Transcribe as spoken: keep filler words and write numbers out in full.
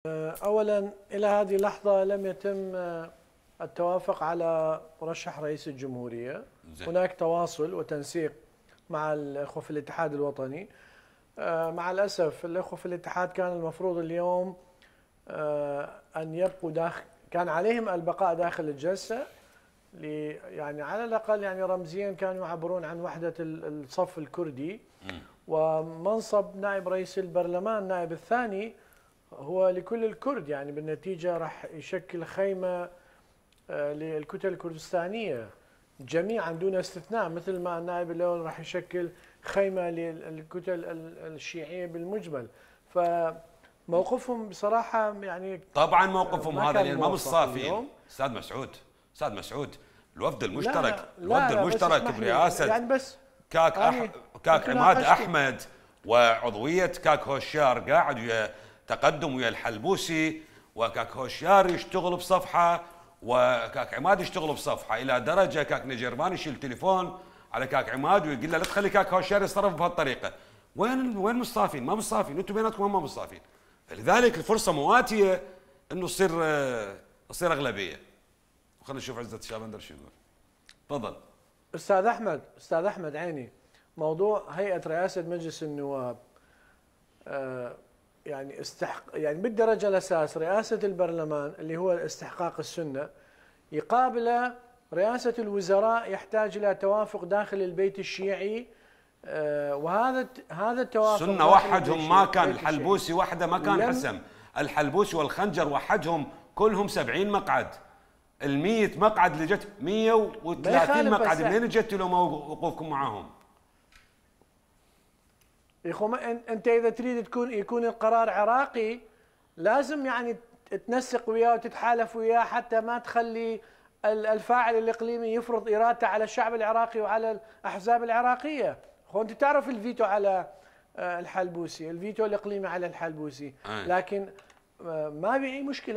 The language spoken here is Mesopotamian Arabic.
أولا إلى هذه اللحظة لم يتم التوافق على مرشح رئيس الجمهورية. زي. هناك تواصل وتنسيق مع الأخوة في الاتحاد الوطني. مع الأسف الأخوة في الاتحاد كان المفروض اليوم أن يبقوا داخل، كان عليهم البقاء داخل الجلسة، يعني على الأقل يعني رمزيا كانوا يعبرون عن وحدة الصف الكردي. ومنصب نائب رئيس البرلمان النائب الثاني هو لكل الكرد، يعني بالنتيجة راح يشكل خيمة للكتل الكردستانية جميعا دون استثناء، مثل ما النائب الأول راح يشكل خيمة للكتل الشيعية بالمجمل. فموقفهم بصراحة يعني طبعا موقفهم هذا لأن ما بالصافين. أستاذ مسعود أستاذ مسعود الوفد المشترك الوفد المشترك برئاسة يعني بس كاك أح... كاك عماد أحمد وعضوية كاك هوشيار قاعد ويا تقدم ويا الحلبوسي، وكاك هوشيار يشتغل بصفحة وكاك عماد يشتغل بصفحة، إلى درجة كاك نجرمان يشيل تليفون على كاك عماد ويقول له لا تخلي كاك هوشيار يتصرف بهالطريقة. وين وين مصافين؟ ما مصافين، انتم بيناتكم ما مصافين. فلذلك الفرصة مواتية انه تصير تصير أغلبية. خلينا نشوف عزت الشابندر شو يقول. تفضل. أستاذ أحمد أستاذ أحمد عيني، موضوع هيئة رئاسة مجلس النواب آه يعني استحق يعني بالدرجة الأساس رئاسة البرلمان اللي هو استحقاق السنة، يقابل رئاسة الوزراء يحتاج إلى توافق داخل البيت الشيعي. آه وهذا هذا التوافق سنة وحدهم ما كان، الحلبوسي وحده ما كان حسم، الحلبوسي والخنجر وحدهم كلهم سبعين مقعد، المية مقعد اللي جت مية وثلاثين مقعد، منين جت لهم وقوفكم معاهم؟ يا اخو انت اذا تريد تكون يكون القرار عراقي لازم يعني تنسق وياه وتتحالف وياه حتى ما تخلي الفاعل الاقليمي يفرض ارادته على الشعب العراقي وعلى الاحزاب العراقيه. اخو انت تعرف الفيتو على الحلبوسي، الفيتو الاقليمي على الحلبوسي، لكن ما بي اي مشكله.